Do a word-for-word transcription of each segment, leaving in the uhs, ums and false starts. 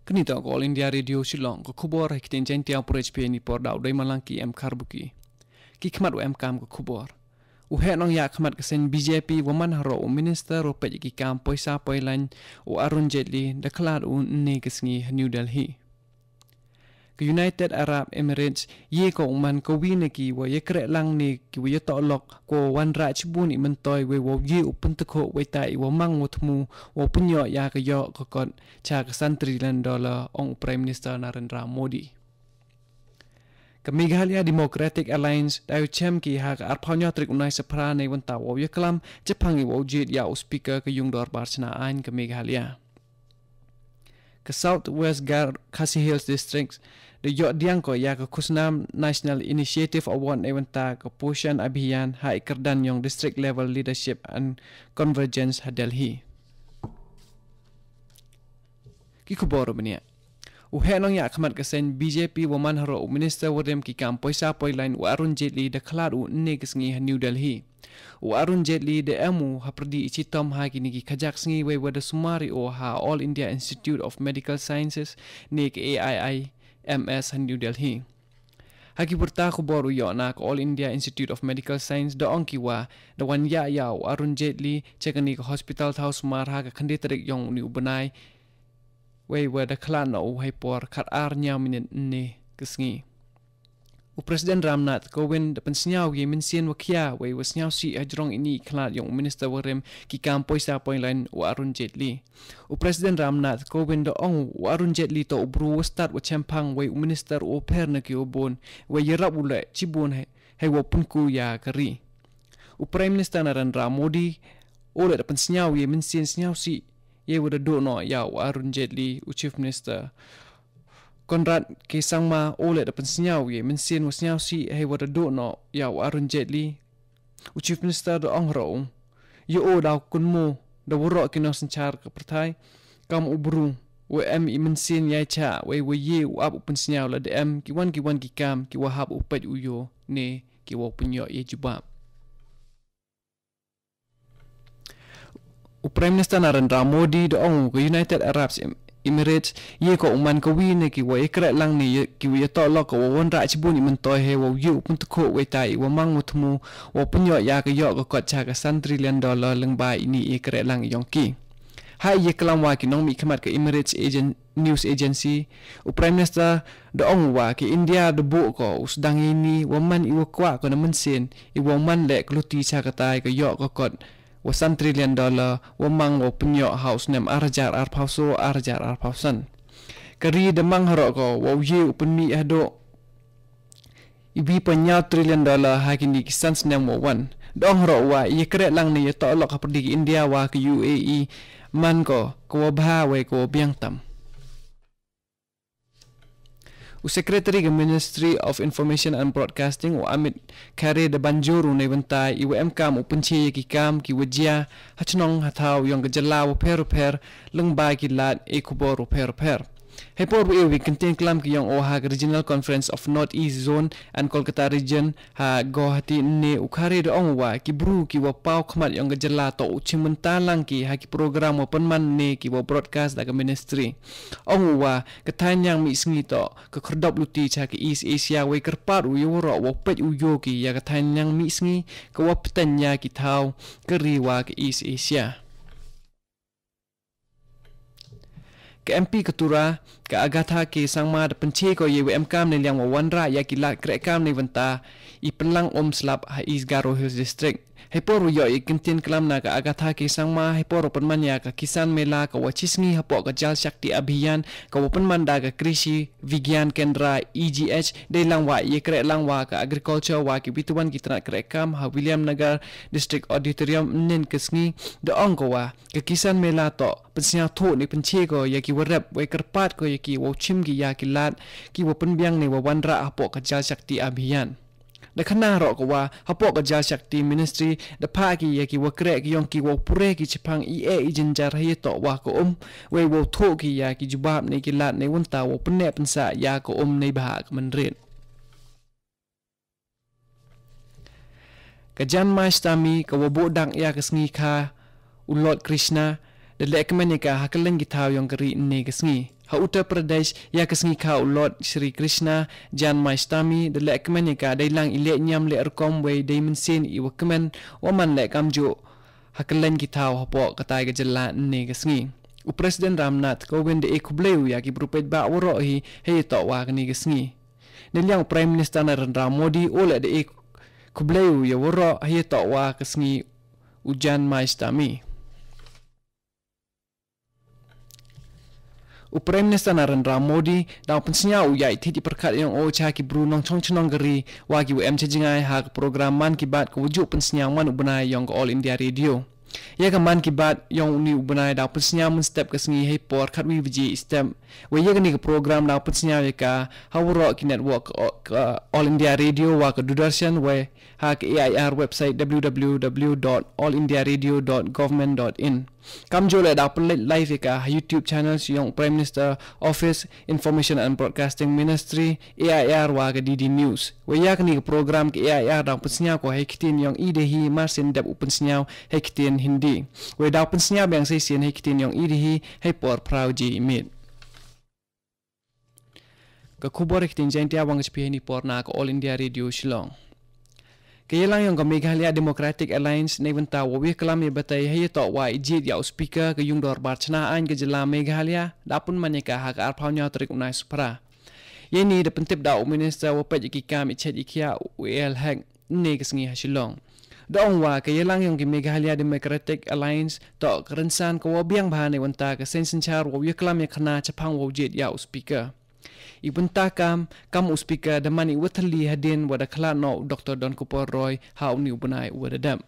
Kani toh ka All India Radio Shillong, ka khubor ha ktien Jaiñtia, u pyrshah phi ni por da u Deimalang ki em Kharbuki. Ki khmat wa em kam ka khubor. U heh nongïakhmat ka seng B J P wa man haroh u minister wa peit ki kam poisa poilaiñ u Arun Jaitley da khlad u ynne ka sngi ha New Delhi. Ka United Arab Emirates ye ko u man ka wi na ki wa ye kreh lang ne ki wa ye toh lok ko wanrah chibun i myntoi wei wow ye u pyntakhuh wei ta i wa mang wa thmu wow pynyoh ya ka yoh ka kot cha ka san trillion dollar, ong u Prime Minister Narendra Modi. Ka Meghalaya Democratic Alliance da u chem ki ha ka arphaw hynñiew tarik u Naisaphra nei wanta wow ye klam chaphang i wow jied ya u speaker ka yung dorbar chna aiñ ka Meghalaya. Ka South West Gar Khasi Hills District da yoh diang ko ya ka khusnam National Initiative Award nei wanta ka Poshan Abhiyan ha i kyrdan yong District Level Leadership and Convergence ha Delhi. Ki khubor bniah. U heh nongïakhmat ka seng B J P wa man haroh u minister wa rem ki kam poisa poilaiñ u Arun Jaitley da khlad u ynne ka sngi ha New Delhi. U Arun Jaitley da em u ha pyrdi i chitom ha kini ki khajak sngi wei wa da sumar i o ha All India Institute of Medical Sciences ne ka A I I M S ha New Delhi. Ha ki pyrta khubor u yoh na ka All India Institute of Medical Science da ong ki wa da wan ya ya u Arun Jaitley cha kani ka hospital thaw sumar ha ka khyndai tarik yong uni u bnai wei wa da khlad na u hei por khat ar hynñiew minit ynne ka sngi. U President Ramnath Kovind da pynsngew ye mynsiem wa khia wei wa sngewsih ha jrong ini i khlad yong u minister wa rem ki kam poisa poilaiñ u Arun Jaitley. U President Ramnath Kovind da ong u Arun Jaitley toh u bru wa stad wa chemphang wei u minister u pher na ki u bun wei yarap u leh chibun hei, hei wow pynku ya ka ri. U Prime Minister Narendra Modi u leh da pynsngew ye mynsiem sngewsih ye wa da duh noh ya u Arun Jaitley. U Chief Minister Conrad K Sangma u leh da pynsngew ye mynsiem wa sngewsih hei wa da duh noh ya u Arun Jaitley. U Chief Minister da ong haroh u, ya u da kynmaw da waroh ki nongsynshar ka pyrthai kam u bru wa em i mynsiem yai cha wei wa ye u ap u pynsngew la da em ki wan ki wan ki kam ki wa hap u peit u yoh ne ki wa u pynyoh ye jubab. U Prime Minister Narendra Modi da ong u ka United Arab Em- Emirates ye ko u man ka wi ne ki wa ye kreh lang ne ye- ki wa ye toh lok ko wa wanrah chibun i myntoi hei wa u ye u pyntakhuh wei ta i wa mang wa thmu wa u pynyoh ya ka yoh ka kot cha ka san trillion dollar lyngba ini i ye kreh lang yong ki. Ha i ye klam wa ki nongmihkhmat ka Emirates Agen- News Agency, u Prime Minister da ong u wa ka India da buh ko u sdang ini wa man i wa kwah ko na mynsiem i wa man leh ka luti cha ka tai ka yoh ka kot wa san trillion dollar wa mang wa pynyoh ha u snem ar hajar arphaw saw ar hajar arphaw san. Ka ri da mang haroh ko wa u ye u pynmih haduh i wi pynñiaw trillion dollar ha kini ki san snem wa wan. Da ong haroh u wa i ye kreh lang ne ye toh lok ha pyrdi ka India wa ka U A E man ko ka wa bha wei ka wa biang tam. U Secretary ka Ministry of Information and Broadcasting u Amit Khare da ban jur u nei bynta i wa em kam u pynche ya ki kam ki wa jia ha chnong ha thaw yong ka jylla wa pher wa pher lyngba ki lad e khubor wa pher wa pher. Hei por wa e wi kyntien klam ki yong o ha ka Regional Conference of North East Zone and Kolkata Region ha Guwahati ne u Khare da ong u wa ki bru ki wa paw khmat yong ka jylla toh u chim bynta lang ki ha ki program wa pynman ne ki wa broadcast da ka ministry. Ong u wa ka thaiñ ñiang mih sngi toh ka khyrdop luti cha ka East Asia wei kyrpad u ya waroh wa peit u yoh ki ya ka thaiñ ñiang mih sngi ka wa pteng ya ki thaw ka ri wa ka East Asia. Ka M P ka Tura ka Agatha K Sangma da pynche ko ya wa em kam ne liang wa wanrah ya ki lad kreh kam ne bynta i pynlang um slap ha East Garo Hills District. Hei por wa yoh ya kyntien klam na ka Agatha K Sangma hei por wa pynman ya ka Kisan Mela ka wa chi sngi hapoh ka Jal Shakti Abhiyan ka wa pynman da ka Krishi Vigyan Kendra E G H dei lang wa ya kreh lang wa ka agriculture wa ki bituan ki tnat kreh kam ha William Nagar District Auditorium ynnin ka sngi da ong ko wa ka Kisan Mela toh pynsngew thuh ne pynche ko ya ki wa rep wei kyrpad ko ya ki wa u chim ki ya ki lad ki wa pynbiang ne wa wanrah hapoh ka Jal Shakti Abhiyan. Da khana roh ko wa hapoh ka Jal Shakti Ministry da phah ki ya ki wa kreh ki yong ki wa u pure ki chipang i e i jynjar ha ya toh wa ka um wei wa u thuh ki ya ki jubab ne ki lad ne wynta wa u pynneh pynsah ya ka um ne bha ka mynrit. Ka Janmashtami ka wa buh dang ya ka sngi kha u Lord Krishna da leh kmen ïa ka ha kylleng ki thaw yong ka ri ynne ka sngi. Ha Uttar Pradesh, ïa ka sngi kha u Lord Shri Krishna Janmashtami da leh kmen ïa ka dei lang i leh niam leh rukom wei dei mynsiem i wa kmen wa man leh kamjooh ha kylleng ki thaw hapoh katai ka jylla ynne ka sngi. U President Ram Nath Kovind da e khublei u ïa ki bru paidbah waroh hi hei ïa toh wa kane ka sngi. Neiliang u Prime Minister Narendra Modi u leh da e khublei u ïa waroh hei ïa toh wa ka sngi u Janmashtami. U Prime Minister Narendra Modi da u pynsñiaw u ïa i thied i pyrkhat yong o cha ki bru nongchong chnong ka ri wa ki wa em cha jngai ha ka program Mann Ki Baat ka wa ju pynsñiaw man u bnai yong ka All India Radio. Ïa ka Mann Ki Baat yong uni u bnai da u pynsñiaw mynstep ka sngi hei por khatwi baje i step. Wei ïa kani ka program da u pynsñiaw ïa ka ha waroh ki network ka, ka All India Radio wa ka Doordarshan wei ha ka A I R website w w w dot all india radio dot government dot in. Kamjooh leh da u pynleit live ïa ka ha YouTube channels yong Prime Minister Office, Information and Broadcasting Ministry, A I R wa ka D D News. Wei ïa kani ka program ka A I R da u pynsñiaw ko hei ktien yong i dei hi marsien dep u pynsñiaw hei ktien Hindi. Wei da u pynsñiaw biang sa shisien hei ktien yong i dei hi hei por phra baje i miet. Ka khubor hei ktien Jaiñtia wa nga shu plie hei ni por na ka All India Radio Shillong. Ka ïalang yong ka Meghalaya Democratic Alliance neibynta wa u ïaklam ïa batai hei ïa toh wa i jied ïa u Speaker ka yung dorbar chna aiñ ka jylla Meghalaya da pynman ïa ka ha ka arphaw hynñiew tarik u nai Suphra. Ïa ini da pyntip da u Minister wa peit ïa ki kam i chet i khiah u A L Hek ynne ka sngi ha Shillong. Da ong wa ka ïalang yong ki Meghalaya Democratic Alliance toh ka rynsan ka wa biang bha neibynta ka seng synshar wa u ïaklam ïa khana chaphang wa u jied ïa u Speaker. I bynta kam, kam u Speaker da man i wa thylli hadien wa da khlad noh u Doctor Donkupor Roy ha uni u bnai u wa da dep.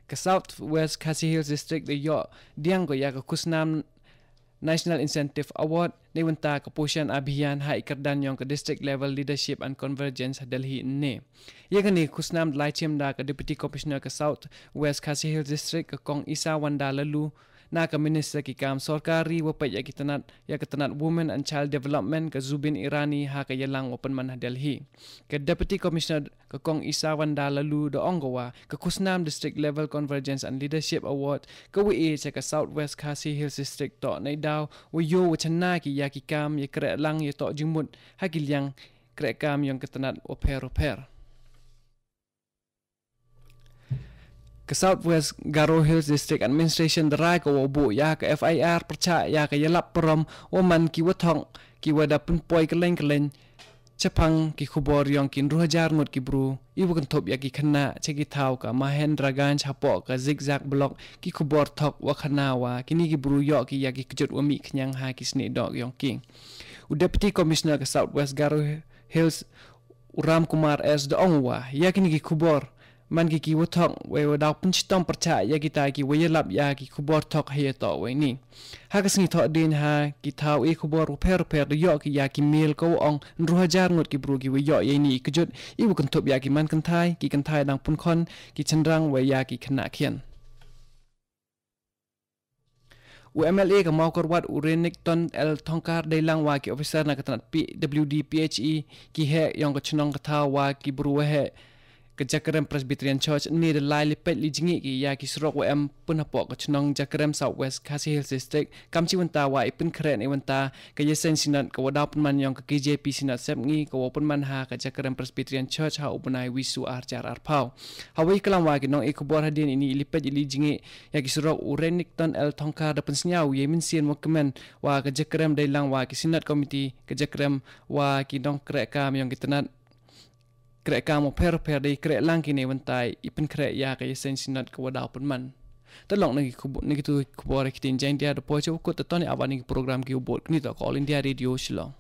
Ka South West Khasi Hills District da ïoh diang ko ïa ka khusnam National Incentive Award neibynta ka Poshan Abhiyan ha i kyrdan yong ka District Level Leadership and Convergence ha Delhi ynne. Ïa kani ka khusnam da lai chim da ka Deputy Commissioner ka South West Khasi Hills District ka Kong Isawanda Laloo na ka Minister ki kam sorkar ri wa peit ïa ki tnat, ïa ka tnat Women and Child Development ka Zubeen Irani ha ka ïalang wa pynman ha Delhi. Ka Deputy Commissioner ka Kong Isawanda Laloo da ong ko wa ka khusnam District Level Convergence and Leadership Award ka wa e cha ka South West Khasi Hills District toh neidaw wa ïoh wa chana ki ïa ki kam ïa kreh lang ïa toh jingmut ha ki liang kreh kam yong ka tnat wa pher wa pher. Ka South West Garo Hills District Administration da rai ko wa u buh ïa ka F I R pyrchah ïa ka ïalap parom wa man ki wa thok ki wa da pynpoi kylleng kylleng chaphang ki khubor yong ki hynriew hajar ngut ki bru i wa kynthup ïa ki khynnah cha ki thaw ka Mahendraganj hapoh ka Zigzag Block, ki khubor thok wa khana wa kini ki bru ïoh ki ïa ki kjut wa mih khñiang ha ki snieh doh yong ki. U Deputy Commissioner ka South West Garo Hills u Ram Kumar S da ong wa ïa kini ki khubor man ki ki wa thok wei wa daw pynshitom pyrchah ïa kita ki wa ïalap ïa ki khubor thok ha ïa toh wei ni. Ha ka sngi thoh dien ha ki thaw i khubor wa pher wa pher da ïoh ki ïa ki mail ka wa ong hynriew hajar ngut ki bru ki wa ïoh ïa ini i kjut i wa kynthup ïa ki man kynthai, ki kynthai dang pun khon, ki chynrang wei ïa ki khynnah khian. U M L A ka Mawkyrwat u Renikton L Thongkhar dei lang wa ki officer na ka tnat P W D P H E ki heh yong ka chnong ka thaw wa ki bru wa heh ka Jakrem Presbyterian Church ne da lai lipet li jngi ki ïa ki surok wa em pun hapoh ka chnong Jakrem South West Khasi Hills District kam chi wynta wa i pynkhreh ne wynta ka ïaseng synod ka wa daw pynman yong ka K J P Synod Sepngi ka wa pynman ha ka Jakrem Presbyterian Church ha u bnai Wisu ar hajar arphaw. Ha wa i klam wa ki nong i khubor hadien ini i lipet li jngi ïa ki surok u Renikton L Thongkhar da pynsngew ïa i mynsiem wa kmen wa ka Jakrem dei lang wa ki Synod Committee ka Jakrem wa ki nongkreh kam yong ki tnat kreh kam wa pher pher dei kreh lang ki ne wynta i pynkhreh ïa ka ïaseng synod ka wa daw pynman. Te long na ki khubor, na ki tu khubor ki ktien Jaiñtia da poi cha u kut te toni aban na ki program ki u bud kini to ka All India Radio Shillong.